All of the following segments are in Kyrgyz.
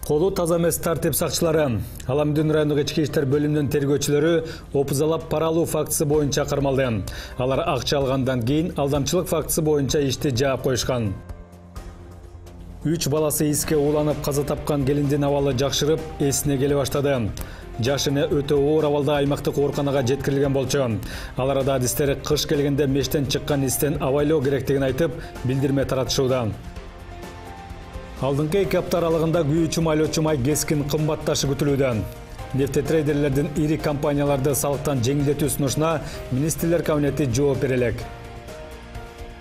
Колу таза эмес тартип сакчылары Аламүдүн райондук ички иштер бөлүмүнүн тергөөчүлөрү опузалап пара алуу фактысы боюнча кармалды. Алар акча алгандан кийин алдамчылык фактысы боюнча ишти жаап коюшкан. 3 баласы иске ууланып каза тапкан келиндин абалы жакшырып, эсине келе баштады. Жашыны өтө оор абалда аймактык ооруканага жеткирилген болчу. Ал арада адистер кыш келгенде мештен чыккан истен абайлоо керектигин айтып, билдирме таратышууда. Алдыңкы 2 апта аралыгында күйүүчү майлоочу май кескин кымбатташы күтүлүүдө. Нефтетрейдерлердин ири компанияларды салыктан жеңилдетүү сунушуна министрлер кабинети жооп бере элек.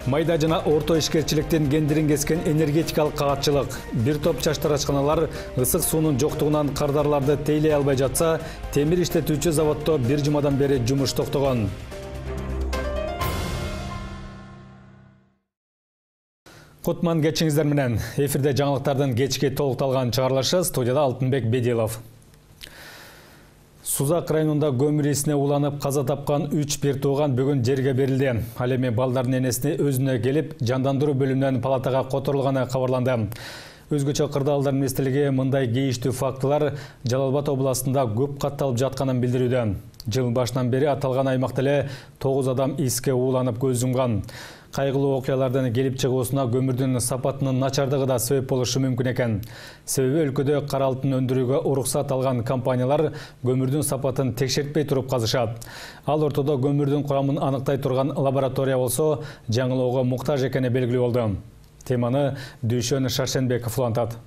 Майда жана орто ишкерчиликтин кендирин кескен энергетикалык кагатчылык. Бир топ чачтарачканалар ысык суунун жоктугунан кардарларды тейлей албай жатса, темир иштетүүчү заводдо 1 жумадан бери жумуш токтогон. Кутман кечиңиздер менен. Эфирде жаңылыктардын кечки толукталган чыгарылышы, студияда Алтынбек Бедилов. Сузак районунда көмүр исине уланып каза тапкан 3 бир тууган бүгүн жерге берилди. Ал эми балдардын энесине өзүнө келип, жандандыруу бөлүмүнөн палатага которулганы кабарланды. Өзгөчө Кырдаалдар министрлиги мындай кейиштүү фактылар Жалал Абад областында көп катталып жатканын билдирүүдө. Жыл башынан бери аталган аймакта эле 9 адам иске ууланып көз жумган. Кайгылуу окуялардын келип чыгуусуна көмүрдүн сапатынын начардыгы да себеп болушу мүмкүн экен. Себеби өлкөдө кара алтын өндүрүүгө уруксат алган компаниялар көмүрдүн сапатын текшертпей туруп казышат. Ал ортодо көмүрдүн курамын аныктай турган лаборатория болсо жаңылоого муктаж экени белгилүү болду. Теманы Дүйшөн Шаршенбеков улантат.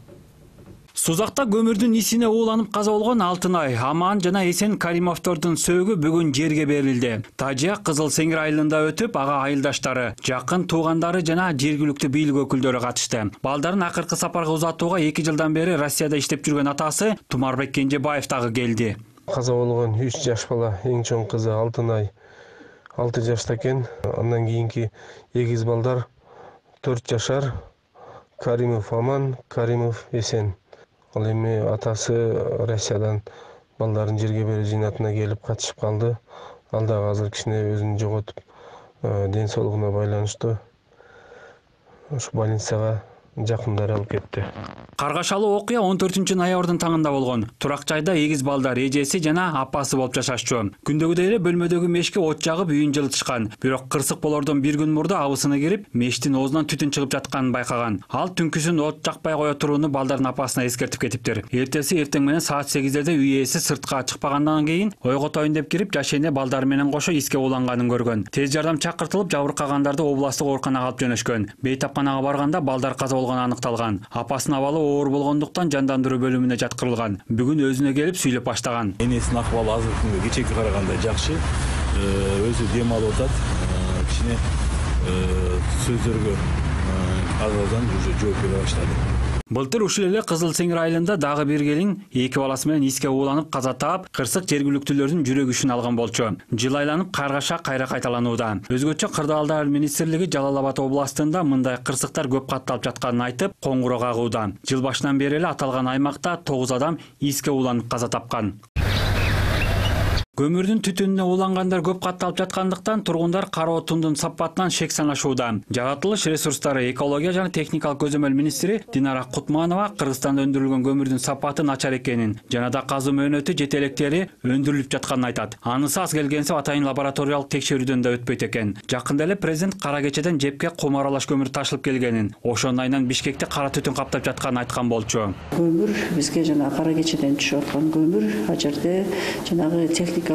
Сузакта көмүрдүн исине ууланып каза болгон Алтынай, Аман жана Эсен Каримовдордун сөөгү бүгүн жерге берилди. Тажия Кызыл Сеңир айылында өтүп, ага айылдаштары, жакын туугандары жана жергиликтүү бийлик өкүлдөрү катышты. Балдарын акыркы сапарга узатууга 2 жылдан бери Россияда иштеп жүргөн атасы Тумарбек Кенжебаев дагы келди. Каза болгон 3 жаш бала, эң чоң кызы Алтынай 6 жашта экен. Андан кийинки эгиз балдар 4 жашар, Каримов Аман, Каримов Эсен. Ал эми атасы Россиядан балдарын жерге берүү жыйнатына келип катышып калды. Ал дагы азыр кичине өзүн жоготуп, ден соолугуна байланыштуу ушу больницага жакындары алып кетти. Каргашалуу окуя 14-ноябрдын таңында болгон. Турак жайда эгиз балдар эжеси жана апасы болуп жашашчу. Күндөгүдөй эле бөлмөдөгү мешке от жагып үйүн жылытышкан. Бирок кырсык болордон bir күн мурда абысыны кирип, мештин оозунан түтүн чыгып жатканын байкаган. Ал түнкүсүн от жакпай кое турууну балдардын апасына эскертип кетиптир. Эртеси эртең менен саат 8-дерде үй ээси сыртка чыкпагандан кийин ойготоюн деп кирип, жашене балдары менен кошо иске ууланганын көргөн. Тез жардам чакыртылып, жабыркагандарды областтык ооруканага алып жөнөшкөн. Бейтапканага барганда балдар каза болгону аныкталган. Апасынын абалы оор болгондуктан жандандыруу бөлүмүнө жаткырылган. Бүгүн өзүнө келип сүйлөп баштаган. Энесинин акыбалы азыркы күнгө кечээкиге караганда жакшы. Өзү дем алып атат. Кичине сөздөргө азырдан уже жооп бере баштады. Былтыр ушул эле Кызыл Сеңир айылында дагы бир келин 2 баласы менен иске ууланып каза таап, кырсык жергиликтүүлөрдүн жүрөк ишин алган болчу. Жыл айланып каргаша кайра кайталанууда. Өзгөчө Кырдаалдар министрлиги Жалал Абад областында мындай кырсыктар көп катталып жатканын айтып, коңгуроо кагууда. Жыл башынан бери эле аталган аймакта 9 адам иске ууланып каза тапкан. Көмүрдүн түтүнүнө уулангандар көп катталып жаткандыктан тургундар кара отундун сапатынан шек саңашууда. Жаратылыш ресурстары, экология жана техникалык көзөмөл министри Динара Кутманова Кыргызстанда өндүрүлгөн көмүрдүн сапаты начар экенин, жана да казуу мөөнөтү жетелектери өндүрүлүп жатканын айтат. Анысы аз келгенсе атайын лабораториялык текшерүүдөн да өтпөйт экен. Жакында эле президент Кара Кечеден жепке кум аралаш көмүр ташылып келгенин, ошонун айынан Бишкекте кара түтүн каптап жатканын айткан болчу. Көмүр бизге жана Кара Кечеден түшүп аткан көмүр, а жерде жанагы техникалык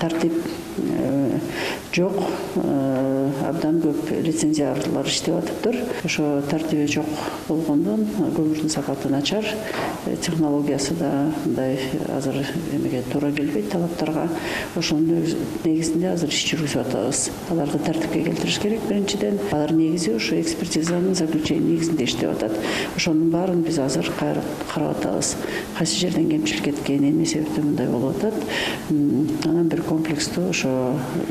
тартип жок, абдан көп лицензиялар иштеп атыптыр. Ошо тартиби жок болгондон көмүрдүн сапаты начар, технологиясы да мындай азыр эмеге туура келбейт талаптарга. Ошонун негизинде азыр иш жүргүзүп атабыз. Аларды тартипке келтириш керек биринчиден. Алар негизи ошо экспертизанын заключение негизинде иштеп атат. Ошонун баарын биз азыр карап атабыз. Кайсы жерден кемчилик кеткен, эмне себептен мындай болуп атат. Анан бир комплекстүү ошо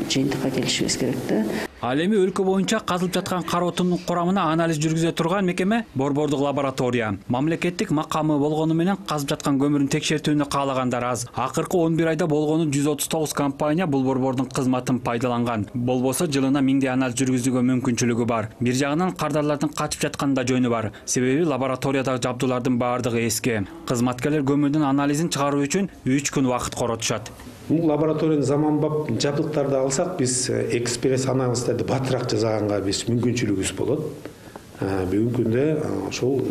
жыйынтыкка келишибиз керек да. Ал эми өлкө боюнча казылып жаткан кара отундун курамына анализ жүргүзө турган мекеме борбордук лаборатория. Мамлекеттик макамы болгону менен казып жаткан көмүрдүн текшертүүнү каалагандар аз. Акыркы 11 айда болгону 139 компания бул борбордун кызматын пайдаланган. Болбосо жылына 1000 анализ жүргүзүүгө мүмкүнчүлүгү бар. Бир жагынан кардарлардын качып жатканында жөнү бар. Себеби лабораториядагы жабдуулардын баардыгы эски. Кызматкерлер көмүрдүн анализин чыгаруу үчүн 3 күн убакыт коротушат. Лабораториянын заманбап жабдыктарды алсак, биз экспресс анализдерди батыраак жасаганга биз мүмкүнчүлүгүбүз болот. Бүгүнкү күндө ошол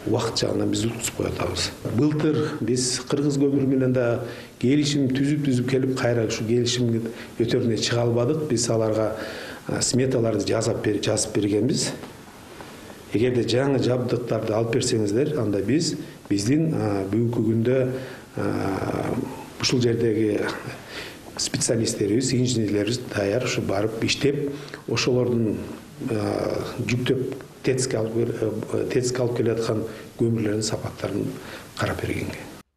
убакыт жагынан биз утузуп кое атабыз. Былтыр биз кыргыз көмүрү менен да келишим түзүп келип, кайра ушу келишим өтөрүнө чыга албадык. Биз аларга сметаларды жазып бергенбиз. Эгерде жаңы жабдыктарды алып берсеңиздер, анда биздин бүгүнкү күндө ушул жердеги специалисттерибиз, инженерлерибиз даяр ушу барып иштеп, ошолордун жүктөп ТЭЦКе алып келаткан көмүрлөрдүн сапаттарын карап бергенге.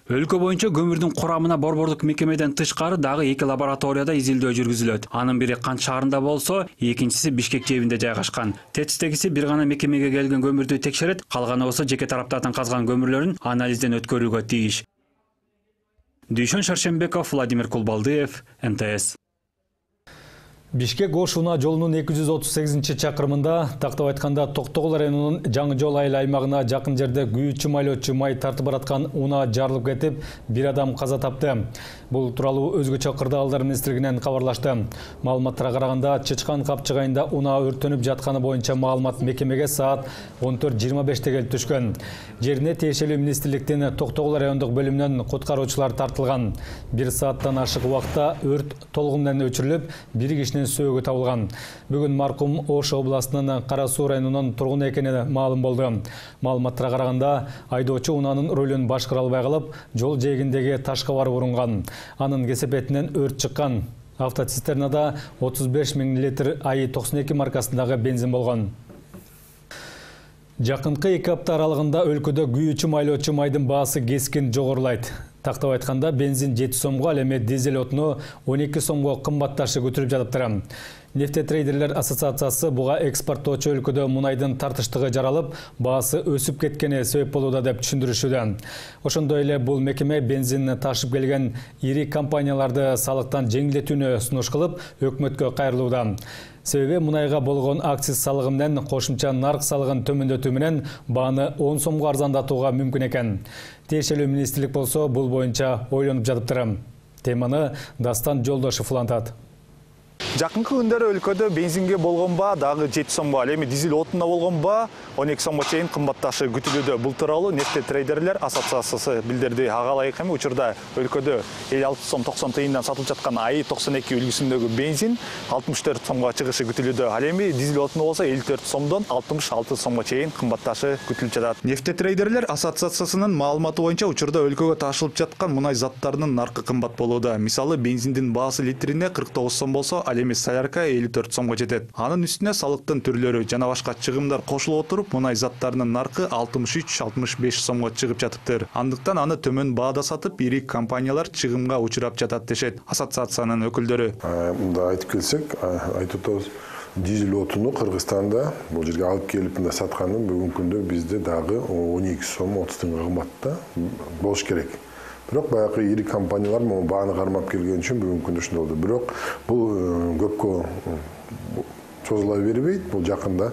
Өлкө боюнча көмүрдүн курамына борбордук мекемеден тышкары дагы 2 лабораторияда изилдөө жүргүзүлөт. Анын бири Кант шаарында болсо, экинчиси Бишкек жэбинде жайгашкан. ТЭЦтегиси бир гана мекемеге келген көмүрдү текшерет, калганы болсо жеке тараптардан казган көмүрлөрүн анализден өткөрүүгө тийиш. Дүйшөн Шаршембеков, Владимир Кулбалдыев, НТС. Бишкек Ош унаа жолунун 238-чакырымында, тактап айтканда Токтогул районунун Жаңы жол айыл аймагына жакын жерде күйүүчү майлоочу май тартып бараткан унаа жарылып кетип, бир адам каза тапты. Бул тууралуу өзгөчө кырдаалдар министрлигинен кабарлашты. Маалыматтарга караганда, Чычкан капчык айында унаа өртөнүп жатканы боюнча маалымат мекемеге саат 14:25 келип түшкөн. Жерине тиешелүү министрликтин Токтогул райондук бөлүмүнөн куткаруучулар тартылган. 1 сааттан ашык убакта өрт толугу менен өчүрүлүп, бир кишинин сөөгү табылган. Бүгүн маркум Ош областынын Кара Суу районунун тургуну экени маалым болду. Маалыматтарга караганда, айдоочу унаанын рөлүн башкара албай калып, жол жээгиндеги ташка барып урунган. Анын кесепетинен өрт чыккан. Автоцистернада 35 000 литр АИ-92 маркасындагы бензин болгон. Жакынкы 2 апта аралыгында өлкөдө күйүүчү майлоочу майдын баасы кескин жогорулайт. Тактап айтканда, бензин 7 сомго, ал эми дизель отуну 12 сомго кымбатташы күтүлүп жатыптыр. Нефтетрейдерлер ассоциациясы буга экспорттоочу өлкөдө мунайдын тартыштыгы жаралып, баасы өсүп кеткени себеп болууда деп түшүндүрүшүүдө. Ошондой эле бул мекеме бензинди ташып келген ири компанияларды салыктан жеңилдетүүнү сунуш кылып, өкмөткө кайрылууда. Себеби мунайга болгон акциз салыгы менен кошумча нарк салыгын төмөндөтүү менен бааны 10 сомго арзандатууга мүмкүн экен. Тиешелүү министрлик болсо бул боюнча ойлонуп жатыптыр. Теманы Дастан Жолдошов улантат. Жакынкы күндөрү өлкөдө бензинге болгон баа дагы 7 сомго, ал эми дизель отунуна болгон баа 12 сомго чейин кымбатташы күтүлүүдө. Бул тууралуу Нефтетрейдерлер ассоциациясы билдирди. Ага ылайык эми учурда өлкөдө 56 сом 90 тыйындан сатылып жаткан АИ-92 үлгүсүндөгү бензин 64 сомго чыгышы күтүлүүдө. Ал эми дизель отуну болсо 54 сомдон 66 сомго чейин кымбатташы күтүлүп жатат. Нефтетрейдерлер ассоциациясынын маалыматы боюнча учурда өлкөгө ташылып жаткан мунай заттарынын наркы кымбат болууда. Мисалы, бензиндин баасы литрине 49 сом болсо, ал эми солярка 54 сомго жетет. Анын үстүнө салыктын түрлөрү жана башка чыгымдар кошулуп отуруп, мунай заттарынын наркы 63-65 сомго чыгып жатыптыр. Андыктан аны төмөн баада сатып, ири компаниялар чыгымга учурап жатат дешет ассоциациянын өкүлдөрү. Мында айтып келсек, айтып атабыз, дизель отуну Кыргызстанда бул жерге алып келип мында сатканын бүгүнкү күндө бизде дагы 12 сом 30 тыйынга кымбатта болуш керек. Бирок баягы ири компаниялар бааны кармап келген үчүн бүгүнкү күндө ушундай болду. Бирок бул көпкө созула бербейт. Бул жакында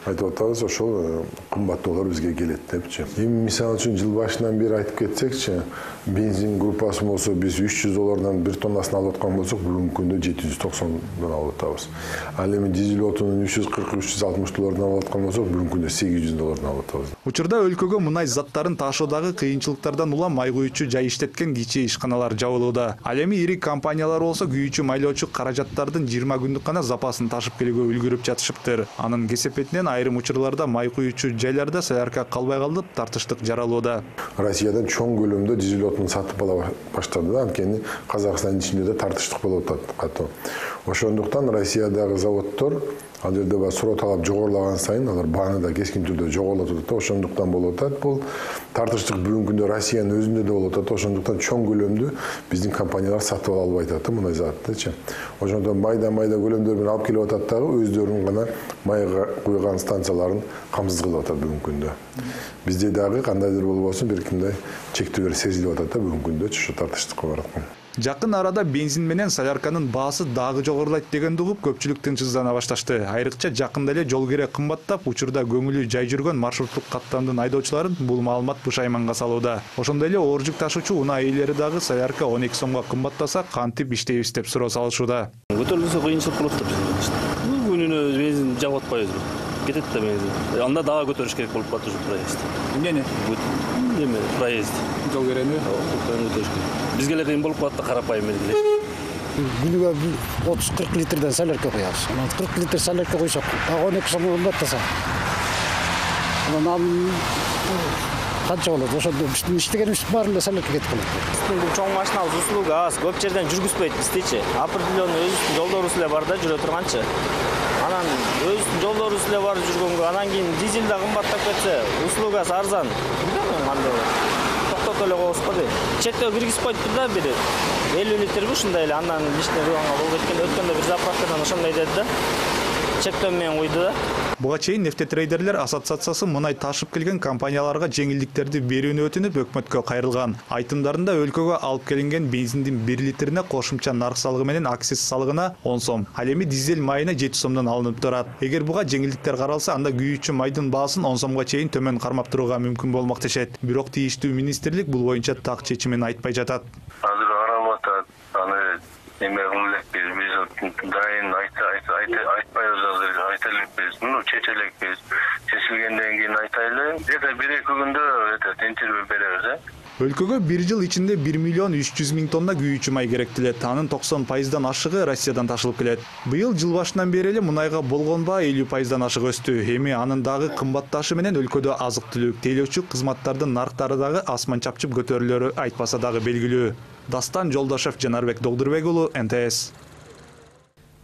айтып атабыз, ошол кымбаттоолор бизге келет депчи. Эми мисалы үчүн жыл башынан бери айтып кетсекчи, бензин группасы болсо биз $300 бир тоннасын алып аткан болсок, бүгүнкү күндө $790 алып атабыз. Ал эми дизель отунун $340-360 алып аткан болсок, бүгүнкү күндө $800 алып атабыз. Учурда өлкөгө мунай заттарын ташуудагы кыйынчылыктардан улам май куючу жай иштеткен кичи ишканалар жабылууда. Ал эми ири компаниялар болсо күйүүчү майлоочу каражаттардын 20 күндүк гана запасын ташып келүүгө үлгүрүп жатышыптыр. Анын кесепетинен айрым учурларда май куючу жайларда солярка калбай калып, тартыштык жаралууда. Россиядан чоң көлөмдө дизель отун сатып ала баштады, анткени Казакстандын ичинде да тартыштык болуп атат катуу. Ошондуктан Россиядагы заводдор Ал жерде бар суроо талап жогорулаган сайын алар бааны да кескин түрдө жогорулуп атат. Ошондуктан болуп атат. Бул тартыштык бүгүнкү күндө Россиянын өзүндө да болуп атат. Ошондуктан чоң көлөмдүү биздин компаниялар сатып ала албай атат мындай заттычы. Ошондон майда көлөмдөр менен алып келип атат дагы өздөрүнүн гана майга куйган станцияларын камсыз кылып атат бүгүнкү күндө. Бизде дагы кандайдыр болбосун бир кимдей чектөөлөр сезилип атат да бүгүнкү күндө ошо тартыштыкка бараткан. Жакын арада бензин менен солярканын баасы дагы жогорулайт дегенди угуп көпчүлүк тынчсыздана башташты. Айрыкча жакында эле жол кире кымбаттап, учурда көңүлү жай жүргөн маршруттук каттамдын айдоочуларын бул маалымат бушайманга салууда. Ошондой эле оор жүк ташуучу унаа ээлери дагы солярка 12 сомго кымбаттаса кантип иштейбиз деп суроо салышууда. Көтөрүлсө кыйынчылык болот да бизде. Күнүнө бензин жагып атпайбызбы? Кетет да бензин. Анда дагы көтөрүш керек болуп калат уже проезд. Эмне? Эме проезд. Жол кереби? Бизге эле кыйын болуп калат да карапайым эле. Күнүгө 30-40 литрден солярка коебуз. 40 литр солярка койсок, 12 сом кымбаттаса. Анан канча болот? Ошондо биздин иштегенибиз баары эле солярка кетип калат. Биздин чоң машиналар услуга аз, көп жерден жүргүзбөйт биздичи. Определенный өзүбүздүн жолдорубуз эле бар да жүрө турганчы. Анан өзүбүздүн жолдорубуз эле бар жүргөнгө, анан кийин дизель да кымбаттап кетсе, услугасы арзан. Билбейм кандай болот. Токтотуп эле коебуз го дейм. Чектөө киргизип койтуп да бир 50 литрби ушундай эле, андан лишний кылганга болбойт экен. Өткөндө бир заправкадан ошондой деди да. Чектөө менен куйду да. Буга чейин нефтетрейдерлер ассоциациясы мынай ташып келген компанияларга жеңилдиктерди берүүнү өтүнүп өкмөткө кайрылган. Айтымдарында өлкөгө алып келинген бензиндин 1 литрине кошумча нарк салыгы менен акциз салыгына 10 сом, ал эми дизель майына 7 сомдон алынып турат. Эгер буга жеңилдиктер каралса, анда күйүүчү майдын баасын 10 сомго чейин төмөн кармап турууга мүмкүн болмок дешет. Бирок тийиштүү министрлик бул боюнча так чечимин айтпай жатат. Азыр каралып атат. Аны эме кылып элек биз дайын айтпайбыз азыр, айта элекпиз. Чече элекпиз. Чечилгенден кийин айтайлы. Где-то 1-2 күндө тентирип беребиз. Өлкөгө 1 жыл ичинде 1 миллион 300 миң тонна күйүүчү май керектелет. Анын 90% ашыгы Россиядан ташылып келет. Быйыл жыл башынан бери эле мунайга болгон баа 50% ашык өстү. Эми анын дагы кымбатташы менен өлкөдө азык-түлүк, тейлөөчү кызматтардын нарктары дагы асман чапчып көтөрүлөрү айтпаса дагы белгилүү. Дастан Жолдошев, Жанарбек Догдурбек уулу, НТС.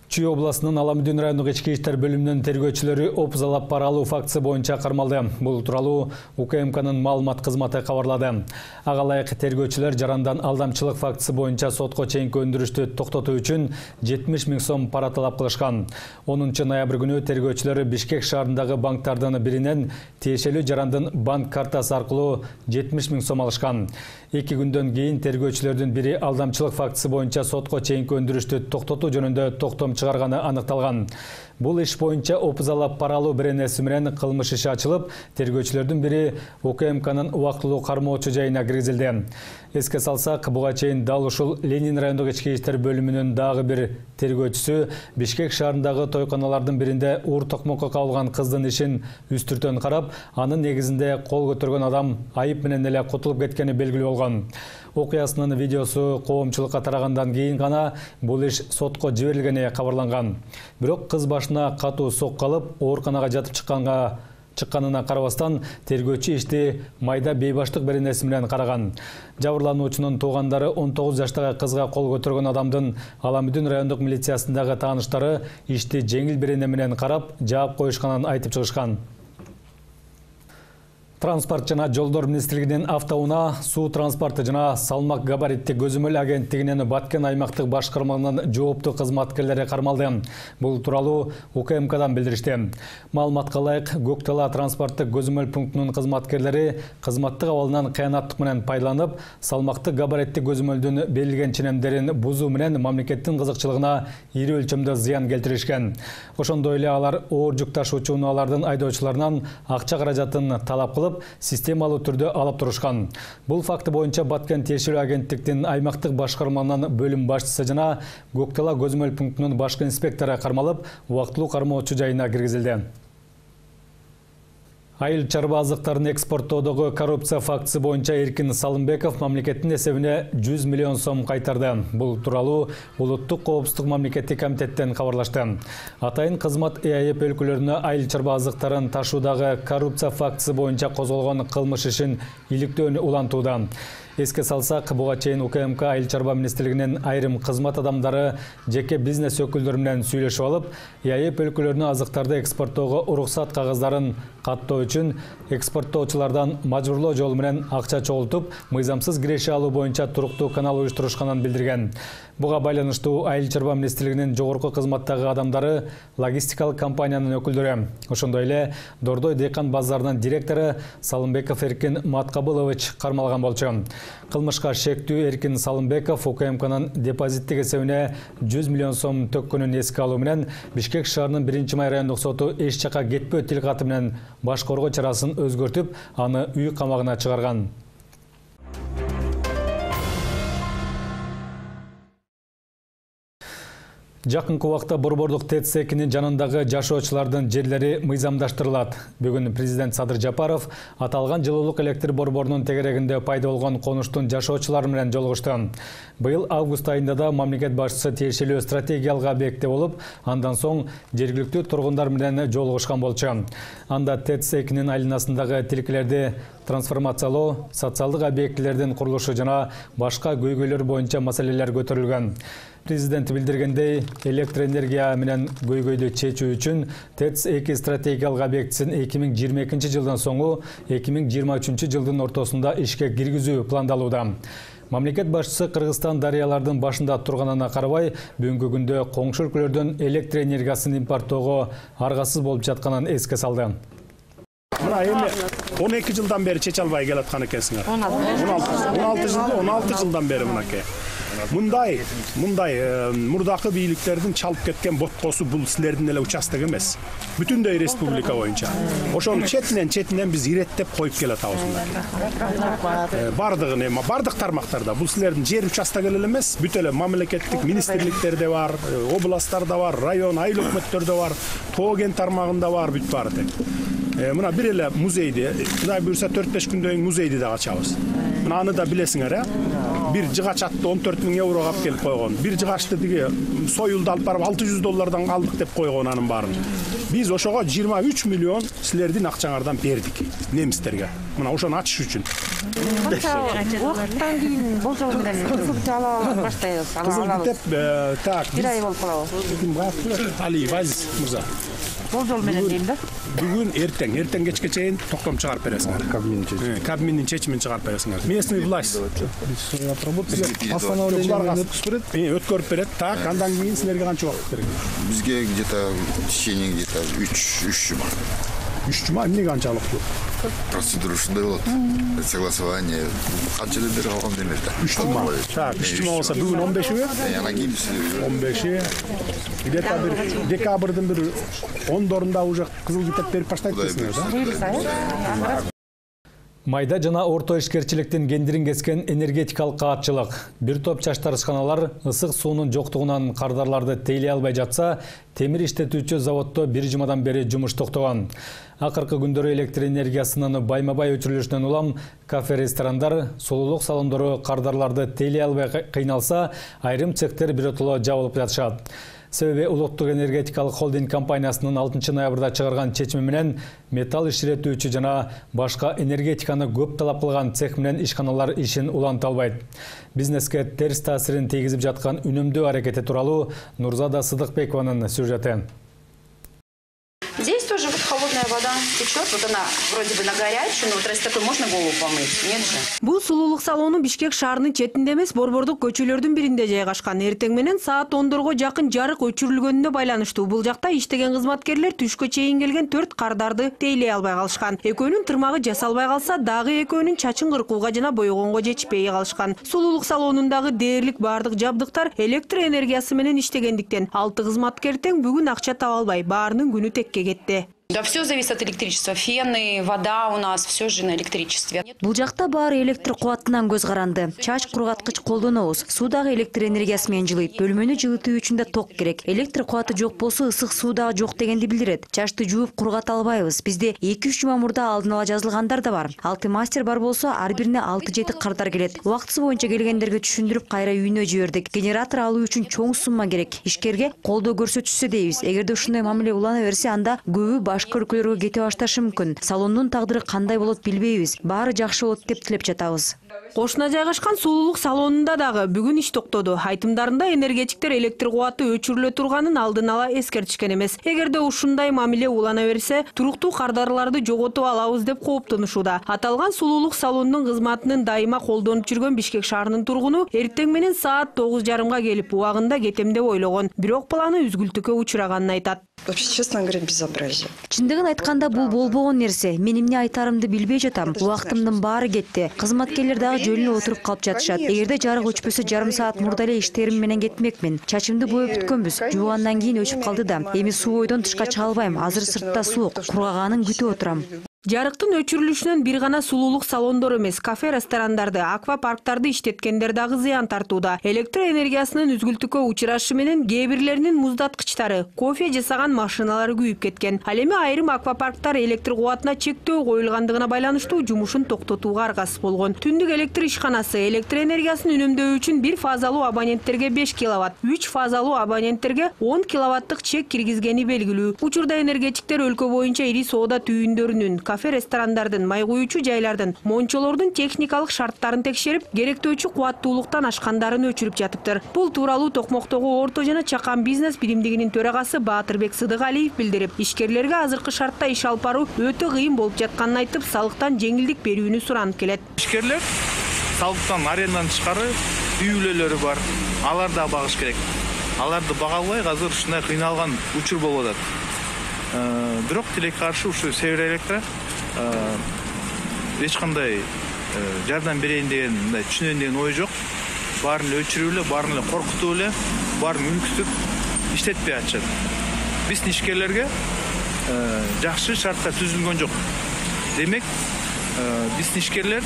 Чүй областынын Аламүдүн райондук ички иштер бөлүмүнүн тергөөчүлөрү опузалап пара алуу фактысы боюнча кармалды. Бул тууралуу УКМКнын маалымат кызматы кабарлады. Ага ылайык тергөөчүлөр жарандан алдамчылык фактысы боюнча сотко чейинки өндүрүштү токтотуу үчүн 70 000 сом пара талап кылышкан. 10 ноябрь күнү тергөөчүлөр Бишкек шаарындагы банктардын биринен тиешелүү жарандын банк картасы аркылуу 70 000 сом алышкан. 2 күндөн кийин тергөөчүлөрдүн бири алдамчылык фактысы боюнча сотко чейинки өндүрүштү токтотуу жөнүндө токтом чыгарганы аныкталган. Бул иш боюнча опузалап пара алуу беренеси менен кылмыш иши ачылып, тергөөчүлөрдүн бири УКМКнын убактылуу кармоочу жайына киргизилди. Эске салсак, буга чейин дал ушул Ленин райондук ички иштер бөлүмүнүн дагы бир тергөөчүсү Бишкек шаарындагы тойканалардын биринде уур токмокко кабылган кыздын ишин үстүртөн карап, анын негизинде кол көтөргөн адам айып менен эле кутулуп кеткени белгилүү болгон. Окуясынын видеосу коомчулукка тарагандан кийин гана бул иш сотко жиберилгени кабарланган. Бирок кыз башына катуу сокку алып, ооруканага жатып чыкканына карабастан тергөөчү ишти майда бейбаштык беренеси менен караган. Жабырлануучунун туугандары 19 жаштагы кызга кол көтөргөн адамдын Аламүдүн райондук милициясындагы тааныштары ишти жеңил берене менен карап, жаап коюшканын айтып чыгышкан. Транспорт жана жолдор министрлигинин автоунаа, суу транспорты жана салмак габариттик көзөмөл агенттигинин Баткен аймактык башкарманын жооптуу кызматкерлери кармалды. Бул тууралуу УКМКдан билдиришти. Маалыматка ылайык, Көктала транспорттук көзөмөл пунктунун кызматкерлери кызматтык абалынан кыянаттык менен пайдаланып, салмактык габариттик көзөмөлдүн берилген ченемдерин бузуу менен мамлекеттин кызыкчылыгына ири өлчөмдө зыян келтиришкен. Ошондой эле алар оор жүк ташуучу унаалардын айдоочуларынан акча каражатын талап кылып, системалуу түрдө алып турушкан. Бул факты боюнча Баткен тиешелүү агенттиктин аймактык башкарманын бөлүм башчысы жана Көктала көзөмөл пунктунун башкы инспектору кармалып, убактылуу кармоочу жайына киргизилди. Айыл чарба азыктарын экспорттоодогу коррупция фактысы боюнча Эркин Салымбеков мамлекеттин эсебине 100 миллион сом кайтарды. Бул тууралуу Улуттук коопсуздук мамлекеттик комитеттен кабарлашты. Атайын кызмат ЭАЭП өлкөлөрүнө айыл чарба азыктарын ташуудагы коррупция фактысы боюнча козголгон кылмыш ишин иликтөөнү улантууда. Эске салсак, буга чейин УКМК айыл чарба министрлигинин айрым кызмат адамдары жеке бизнес өкүлдөрү менен сүйлөшүп алып, ЭАЭП өлкөлөрүнө азыктарды экспорттоого уруксат кагаздарын каттоо үчүн экспорттоочулардан мажбурлоо жолу менен акча чогултуп, мыйзамсыз киреше алуу боюнча туруктуу канал уюштурушканын билдирген. Буга байланыштуу айыл чарба министрлигинин жогорку кызматтагы адамдары логистикалык компаниянын өкүлдөрү, ошондой эле Дордой Декан базарынын директору Салымбеков Эркин Маткабылович кармалган болчу. Кылмышка шектүү Эркин Салымбеков УКМКнын депозиттик эсебине 100 миллион сом төккөнүн эске алуу менен Бишкек шаарынын 1-май райондук соту эч жака кетпөө тилкаты менен баш коргоо чарасын өзгөртүп, аны үй камагына чыгарган. Жакынкы убакта Борбордук ТЭЦ-2-нин жанындагы жашоочулардын жерлери мыйзамдаштырылат. Бүгүн президент Садыр Жапаров аталган жылуулук электр борборунун тегерегинде пайда болгон конуштун жашоочулары менен жолугушту. Быйыл август айында да мамлекет башчысы тиешелүү стратегиялык объектте болуп, андан соң жергиликтүү тургундар менен жолугушкан болчу. Анда ТЭЦ-2-нин айланасындагы тилкелерди трансформациялоо, социалдык объектилердин курулушу жана башка көйгөйлөр боюнча маселелер көтөрүлгөн. Президент билдиргендей, электр энергия менен көйгөйдү чечүү үчүн ТЭЦ-2 стратегиялык объектисин 2022 жылдан соңу 2023 жылдын ортосунда ишке киргизүү пландалууда. Мамлекет башчысы Кыргызстан дарыялардын башында турганына карабай, бүгүнкү күндө коңшу өлкөлөрдөн электр энергиясын импорттоого аргасыз болуп жатканын эске салды. Мына эми 12 жылдан бери чече албай келаткан экенсиңер. 16 жылдан бери мынакей. Мындай мурдакы бийликтердин чалып кеткен боткосу бул силердин эле участок эмес. Бүтүндөй республика боюнча. Ошонун четинен биз иреттеп коюп келатабыз мынакей. Бардыгын эми бардык тармактарда бул силердин жер участогу эле эмес, бүт эле мамлекеттик министрликтерде бар, областтарда бар, район, айыл өкмөттөрдө бар, тоо кен тармагында бар, бүт баары тең. Мына бир эле музейди, Кудай буйрса 4-5 күндөн кийин музейди да ачабыз. Мына аны да билесиңер, бир жыгач атты 14 000 евро алып келип койгон. Бир жыгачты тиги союлду алып барып $600 алдык деп койгон анын баарын. Биз ошого 23 миллион силердин акчаңардан бердик немистерге. Мына ошону ачыш үчүн. Убакыттан кийин болжол менен кызыл ала баштайбыз. Кызыл китеп так. Бир ай болуп калабы. Алиев Азиз мырза. Болжол менен дейм да. Бүгүн эртең кечке чейин токтом чыгарып бересиңер. Кабинеттин чечимин чыгарып бересиңер. Местный власть өткөрүп берет. Так, андан кийин силерге канча убакыт керек? Бизге где-то в течение где-то 3 жума. 3 жума эмне канчалык? Процедура ушундай болот. Согласование канча деп берип алган демек да. 3 жума. Так, 3 жума болсо бүгүн 15-и? Анан кийин 15-и. Где-то бир декабрдын бир 10-дорунда уже кызыл китеп берип баштайт дейсиңер да? Майда жана орто ишкерчиликтин кендирин кескен энергетикалык каатчылык. Бир топ чачтырышканалар ысык суунун жоктугунан кардарларды тейлей албай жатса, темир иштетүүчү заводдо 1 жумадан бери жумуш токтогон. Акыркы күндөрү электр энергиясынын байма-бай өчүрүлүшүнөн улам кафе-ресторандар, сулуулук салондору кардарларды тейлей албай кыйналса, айрым цехтер биротоло жабылып жатышат. Себеби Улуттук энергетикалык холдинг компаниясынын 6 ноябрда чыгарган чечими менен металл иширетүүчү жана башка энергетиканы көп талап кылган цех менен ишканалар ишин уланта албайт. Бизнеске терс таасирин тийгизип жаткан үнөмдөө аракети тууралуу Нурзада Сыдыкбекованын сюжети. Здесь тоже вот холодная вода течет, вот она вроде бы на горячую, но вот раз такой можно голову помыть, нет же? Бул сулуулук салону Бишкек шаарынын четинде эмес, борбордук көчөлөрдүн биринде жайгашкан. Эртең менен саат 10-дорго жакын жарык өчүрүлгөнүнө байланыштуу бул жакта иштеген кызматкерлер түшкө чейин келген 4 кардарды тейлей албай калышкан. Экөөнүн тырмагы жасалбай калса, дагы экөөнүн чачын кыркууга жана бойгонго жетишпей калышкан. Сулуулук салонундагы дээрлик бардык жабдыктар электр энергиясы менен иштегендиктен 6 кызматкер тең бүгүн акча таба албай, баарынын күнү текке кетти. Да, все зависит от электричества. Фены, вода у нас, все же на электричестве. Бул жакта баары электр кубатынан көз каранды. Чач кургаткыч колдонобуз. Суу дагы электр энергиясы менен жылыйт. Бөлмөнү жылытуу үчүн да ток керек. Электр кубаты жок болсо ысык суу дагы жок дегенди билдирет. Чачты жууп кургата албайбыз. Бизде 2-3 жума мурда алдын ала жазылгандар да бар. 6 мастер бар болсо, ар бирине 6-7 кардар келет. Убактысы боюнча келгендерге түшүндүрүп кайра үйүнө жибердик. Генератор алуу үчүн чоң сумма керек. Ишкерге колдоо көрсөтүшсө дейбиз. Эгерде ушундай мамиле улана берсе, анда көбү башка өлкөлөргө кете башташы мүмкүн. Салондун тагдыры кандай болот билбейбиз. Баары жакшы болот деп тилеп жатабыз. Кошуна жайгашкан сулуулук салонунда дагы бүгүн иш токтоду. Айтымдарында энергетиктер электр кубаты өчүрүлө турганын алдын ала эскертишкен эмес. Эгерде ушундай мамиле улана берсе, туруктуу кардарларды жоготуп алабыз деп кооптонушууда. Аталган сулуулук салонунун кызматынын дайыма колдонуп жүргөн Бишкек шаарынын тургуну эртең менен саат 9:30 келип, убагында кетем деп ойлогон. Бирок планы үзгүлтүккө учураганын айтат. Вообще, честно говоря, безобразие. Чындыгын айтканда бул болбогон нерсе. Мен эмне айтарымды билбей жатам. Убактымдын баары кетти. Кызматкерлер дагы жөнүнө отуруп калып жатышат. Эгерде жарык өчпөсө жарым саат мурда эле иштерим менен кетмекмин. Чачымды боеп бүткөнбүз. Жуугандан кийин өчүп калды да. Эми суу бойдон тышка чыга албайм. Азыр сыртта суук. Кургаганын күтүп отурам. Жарыктын өчүрүлүшүнөн бир гана сулуулук салондору эмес, кафе, ресторандарды, аквапарктарды иштеткендер дагы зыян тартууда. Электр энергиясынын үзгүлтүккө учурашы менен кээ бирлеринин муздаткычтары, кофе жасаган машиналары күйүп кеткен. Ал эми айрым аквапарктар электр кубатына чектөө коюлгандыгына байланыштуу жумушун токтотууга аргасыз болгон. Түндүк электр ишканасы электр энергиясын үнөмдөө үчүн 1 фазалуу абоненттерге 5 киловатт, 3 фазалуу абоненттерге 10 киловаттык чек киргизгени белгилүү. Учурда энергетиктер өлкө боюнча ири соода түйүндөрүнүн, кафе, ресторандардын, май куюучу жайлардын, мончолордун техникалык шарттарын текшерип, керектөөчү кубаттуулуктан ашкандарын өчүрүп жатыптыр. Бул тууралуу Токмоктогу орто жана чакан бизнес биримдигинин төрагасы Баатырбек Сыдыгалиев билдирип, ишкерлерге азыркы шартта иш алып баруу өтө кыйын болуп жатканын айтып, салыктан жеңилдик берүүнү суранып келет. Ишкерлер салыктан арендадан тышкары үй бүлөлөрү бар. Алар да багыш керек. Аларды бага албай азыр ушундай кыйналган учур болуп атат. Бирок тилекке каршы ушу Север Электро эч кандай жардам берейин деген, мындай түшүнөйүн деген ой жок. Баарын эле өчүрүп эле, баарын эле коркутуп эле, баарын үнүктүп иштетпей атышат. Биздин ишкерлерге жакшы шарттар түзүлгөн жок. Демек, биздин ишкерлер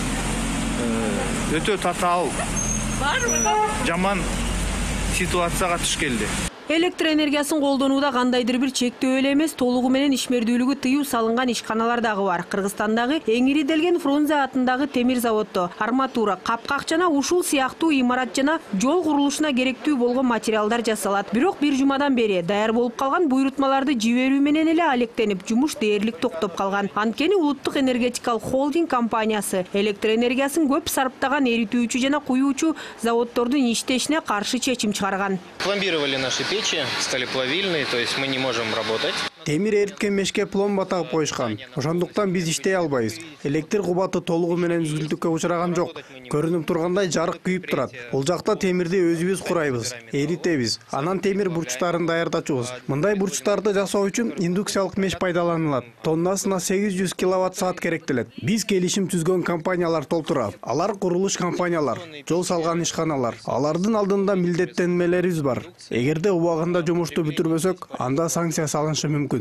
өтө татаал, жаман ситуацияга туш келди. Электр энергиясын колдонууда кандайдыр бир чектөө эле эмес, толугу менен ишмердүүлүгү тыюу салынган ишканалар дагы бар. Кыргызстандагы эң ириделген Фрунзе атындагы темир заводдо арматура, капкак жана ушул сыяктуу имарат жана жол курулушуна керектүү болгон материалдар жасалат. Бирок бир жумадан бери даяр болуп калган буйрутмаларды жиберүү менен эле алектенип, жумуш дээрлик токтоп калган. Анткени Улуттук энергетикалык холдинг компаниясы электр энергиясын көп сарптаган эритүүчү жана куюучу заводдордун иштешине каршы чечим чыгарган. Пломбировали наши печи, стали плавильные, то есть мы не можем работать. Темир эриткен мешке пломба тагып коюшкан. Ошондуктан биз иштей албайбыз. Электр кубаты толугу менен үзгүлтүккө учураган жок. Көрүнүп тургандай жарык күйүп турат. Бул жакта темирди өзүбүз курайбыз, эритебиз. Анан темир бурчтарын даярдачубуз. Мындай бурчтарды жасоо үчүн индукциялык меш пайдаланылат. Тоннасына 800 киловатт саат керектелет. Биз келишим түзгөн компаниялар толтура. Алар курулуш компаниялар, жол салган ишканалар. Алардын алдында милдеттенмелерибиз бар. Эгерде убагында жумушту бүтүрбөсөк, анда санкция салынышы мүмкүн.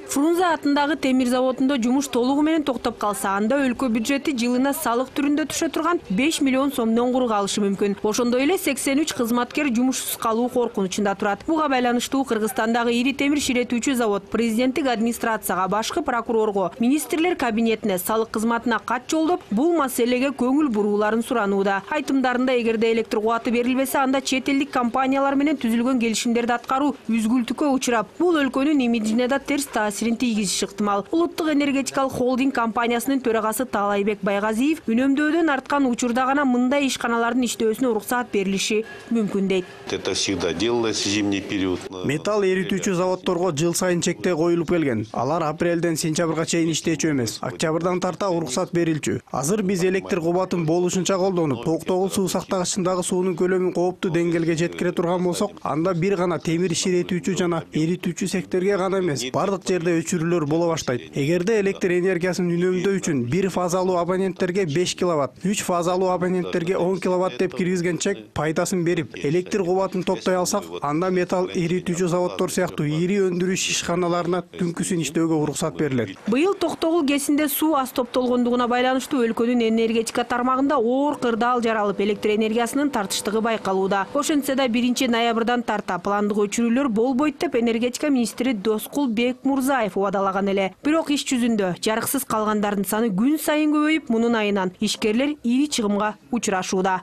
Фрунзе атындагы темир заводунда жумуш толугу менен токтоп калса, анда өлкө бюджети жылына салык түрүндө түшө турган 5 миллион сомдон кур калышы мүмкүн. Ошондой эле 83 кызматкер жумушсуз калуу коркунучунда турат. Буга байланыштуу Кыргызстандагы ири темир ширетүүчү завод президенттик администрацияга, башкы прокурорго, министрлер кабинетине, салык кызматына кат жолдоп, бул маселеге көңүл бурууларын суранууда. Айтымдарында эгерде электр кубаты берилбесе, анда чет элдик компаниялар менен түзүлгөн келишимдерди аткаруу үзгүлтүккө учурап, бул өлкөнүн имиджине да терс тийгизиши ыктымал. Улуттук энергетикалык холдинг компаниясынын төрагасы Таалайбек Байгазиев үнөмдөөдөн арткан учурда гана мындай ишканалардын иштөөсүнө уруксаат берилиши мүмкүн дейт. Это всегда делалось в зимний период. Металл эритүүчү заводдорго жыл сайын чектөө коюлуп келген. Алар апрелден сентябрга чейин иштечү эмес. Октябрдан тарта уруксат берилчү. Азыр биз электр кубатын болушунча колдонуп, токтогул суу сактагычындагы суунун көлөмүн кооптуу деңгээлге жеткире турган болсок, анда бир гана темир ширетүүчү жана эритүүчү секторге гана эмес, бардык жерде кырдаалдарда өчүрүүлөр боло баштайт. Эгерде электр энергиясын үнөмдөө үчүн 1 фазалуу абоненттерге 5 киловатт, 3 фазалуу абоненттерге 10 киловатт деп киргизген чек пайдасын берип, электр кубатын топтой алсак, анда металл эритүүчү заводдор сыяктуу ири өндүрүш ишканаларына түнкүсүн иштөөгө уруксат берилет. Быйыл Токтогул КЭСинде суу аз топтолгондугуна байланыштуу өлкөнүн энергетика тармагында оор кырдаал жаралып, электр энергиясынын тартыштыгы байкалууда. Ошентсе да 1 ноябрдан тарта пландык өчүрүүлөр болбойт деп энергетика министри Доскул Бекмурзаев убадалаган эле. Бирок иш жүзүндө жарыксыз калгандардын саны күн сайын көбөйүп, мунун айынан ишкерлер ири чыгымга учурашууда.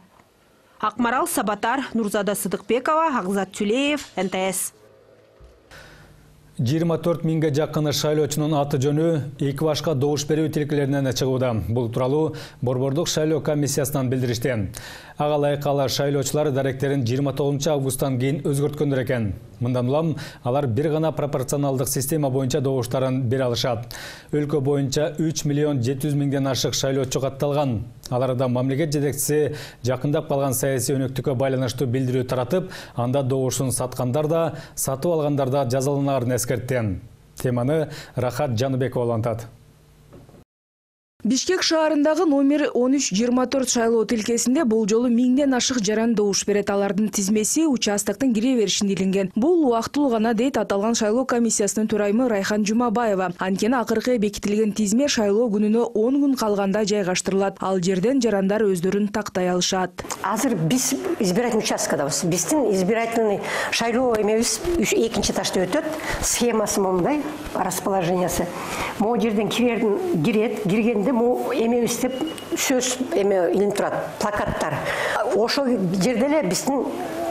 Акмарал Сабатар, Нурзада Сыдыкбекова, Агзат Тюлеев, НТС. 24 миңге жакын шайлоочунун аты жөнү эки башка добуш берүү тилкелеринен чыгууда. Бул тууралуу Борбордук шайлоо комиссиясынан билдиришти. Ага ылайык шайлоочулар даректерин 29 августтан кийин өзгөрткөндөр экен. Мындан улам алар бир гана пропорционалдык система боюнча добуштарын бере алышат. Өлкө боюнча 3 миллион 700 миңден ашык шайлоочу катталган. Аларда мамлекет жетекчиси жакындап калган саясий өнөктүккө байланыштуу билдирүү таратып, анда добушун саткандар да, сатып алгандар да жазаланарын эскертти. Теманы Рахат Жаныбекова улантат. Бишкек шаарындагы номер 1324 шайлоо тилкесинде бул жолу 1000ден ашык жаран добуш берет. Алардын тизмеси участоктун кире беришинде илинген. Бул убактылуу гана дейт аталган шайлоо комиссиясынын төрайымы Райхан Жумабаева. Анткени акыркы бекитилген тизме шайлоо күнүнө 10 күн калганда жайгаштырылат. Ал жерден жарандар өздөрүн тактай алышат. Азыр биз избирательный участкадабыз. Биздин избирательный шайлоо эмебиз экинчи этажда өтөт. Схемасы момундай, расположениясы. Могу жерден киргенде эмебиз деп сөз илинип турат, плакаттар. Ошол жерде эле биздин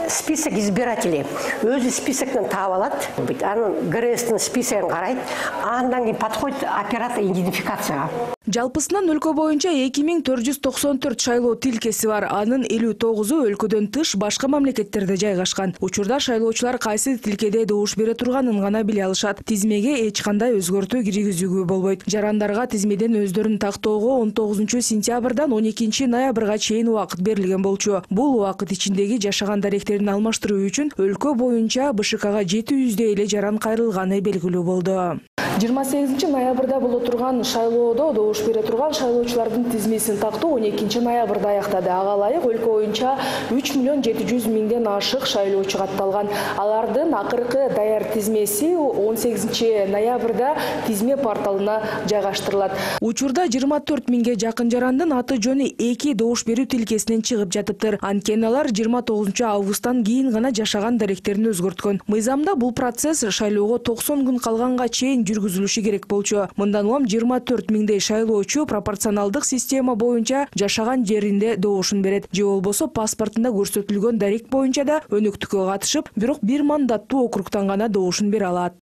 список избирателей өзү списоктон таап алат. Анын ГРСтин списогун карайт. Андан кийин подходит оператор идентификацияга. Жалпысынан өлкө боюнча 2494 шайлоо тилкеси бар. Анын 59-у өлкөдөн тыш башка мамлекеттерде жайгашкан. Учурда шайлоочулар кайсы тилкеде добуш бере турганын гана биле алышат. Тизмеге эч кандай өзгөртүү киргизүүгө болбойт. Жарандарга тизмеден өздөрүн тактоого 19-сентябрдан 12-ноябрга чейин убакыт берилген болчу. Бул убакыт ичиндеги жашаган даректерин алмаштыруу үчүн өлкө боюнча БШКга 700дей эле жаран кайрылганы белгилүү болду. 28-ноябрда боло турган шайлоодо добуш бере турган шайлоочулардын тизмесин тактоо 12-ноябрда аяктады. Ага ылайык өлкө боюнча 3 миллион 700 миңден ашык шайлоочу катталган. Алардын акыркы даяр тизмеси 18-ноябрда тизме порталына жайгаштырылат. Учурда 24 миңге жакын жарандын аты жөнү 2 добуш берүү тилкесинен чыгып жатыптыр. Анткени алар 29-августтан кийин гана жашаган даректерин өзгөрткөн. Мыйзамда бул процесс шайлоого 90 күн калганга чейин жүргүзүлүшү керек болчу. Мындан улам 24 миңдей шайлоочу пропорционалдык система боюнча жашаган жеринде добушун берет. Же болбосо паспортунда көрсөтүлгөн дарек боюнча да өнөктүккө катышып, бирок бир мандаттуу округтан гана добушун бере алат.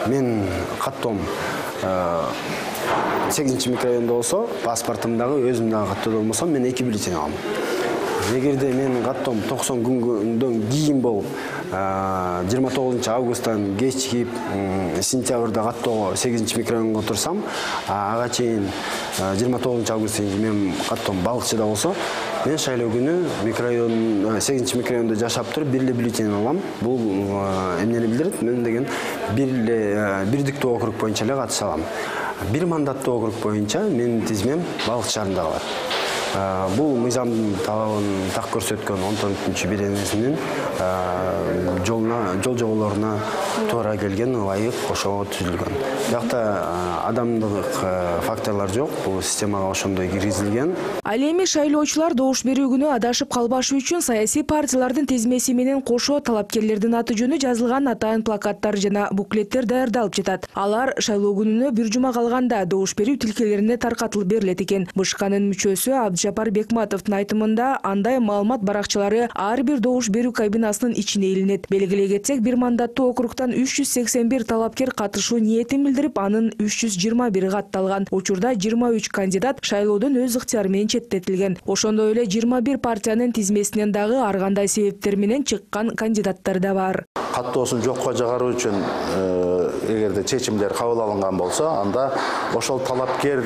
Мен каттоом 8 микрорайонда болсо, паспортумдагы өзүм дагы каттоодо болмосо, мен 2 бюллетень алам. Эгерде мен каттоом 90 күндөн кийин болуп, 29 августтан кечигип сентябрда каттоого 8 микрорайонго турсам, ага чейин 29 августтан кийин мен каттоом Балыкчыда болсо, мен шайлоо күнү 8 микрорайонда жашап туруп бир эле бюллетень алам. Бул эмнени билдирет? Мен деген бирдиктүү округ боюнча эле катыша алам. Бир мандаттуу округ боюнча менин тизмем Балык шаарында калат. Бул мыйзамдын талабын так көрсөткөн 14-беренесинин жол жоболоруна туура келген, ылайык ошого түзүлгөн. Бирокта адамдык факторлор жок, бул системага ошондой киргизилген. Ал эми шайлоочулар добуш берүү күнү адашып калбашы үчүн саясий партиялардын тизмеси менен кошо талапкерлердин аты жөнү жазылган атайын плакаттар жана буклеттер даярдалып жатат. Алар шайлоо күнүнө бир жума калганда добуш берүү тилкелерине таркатылып берилет экен. БШКнын мүчөсү Абдыжапар Бекматовдун айтымында андай маалымат баракчалары ар бир добуш берүү кабинасынын ичине илинет. Белгилей кетсек, бир мандаттуу округтан 381 талапкер катышуу ниетин билдирип, анын 321 катталган. Учурда 23 кандидат шайлоодон өз ыктыяры менен четтетилген. Ошондой эле 21 партиянын тизмесинен дагы ар кандай себептер менен чыккан кандидаттар да бар. Каттоосун жокко чыгаруу үчүн эгерде чечимдер кабыл алынган болсо, анда ошол талапкер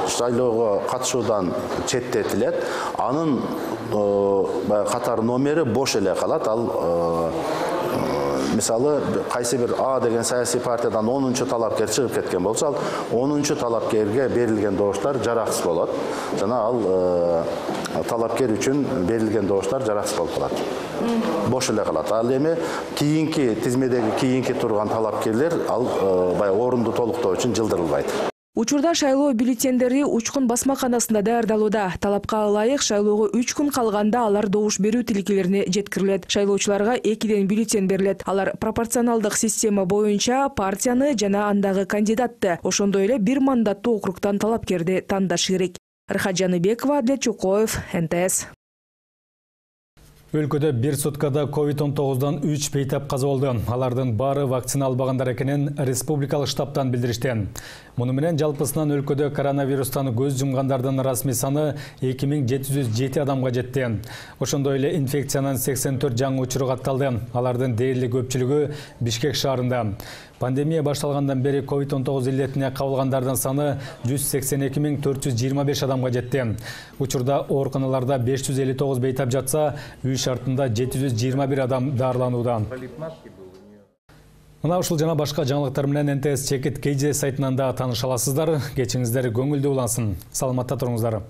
шайлоого катышуудан четтетилет. Анын катар номери бош эле калат. Ал мисалы кайсы бир А деген саясий партиядан 10-чу талапкер чыгып кеткен болсо, ал 10-чу талапкерге берилген добуштар жараксыз болот. Жана ал талапкер үчүн берилген добуштар жараксыз болуп калат. Бош эле калат. Ал эми кийинки тизмедеги кийинки турган талапкерлер ал баягы орунду толуктоо үчүн жылдырылбайт. Учурда шайлоо бюллетендери Учкун басмаканасында даярдалууда. Талапка ылайык шайлоого 3 күн калганда алар добуш берүү тилкелерине жеткирилет. Шайлоочуларга 2ден бюллетень берилет. Алар пропорционалдык система боюнча партияны жана андагы кандидатты, ошондой эле бир мандаттуу округтан талапкерди тандашы керек. Рыхат Жаныбекова, Адлет Чукоев, НТС. Өлкөдө бир суткада COVID-19 3 бейтап каза болду. Алардын баары вакцина албагандар экенин республикалык штабтан билдиришти. Муну менен жалпысынан өлкөдө коронавирустан көз жумгандардын расмий саны 2707 адамга жетти. Ошондой эле инфекциянын 84 жаңы учуру катталды. Алардын дээрлик көпчүлүгү Бишкек шаарында. Пандемия башталгандан бери COVID-19 илетине кабылгандардын саны 182 425 адамга жетти. Учурда ооруканаларда 559 бейтап жатса, үй шартында 721 адам даарыланууда. Мына ушул жана башка жаңылыктар менен НТС Чекит KJ сайтынан да тааныша аласыздар. Кечиңиздер көңүлдүү улансын. Саламатта туруңуздар.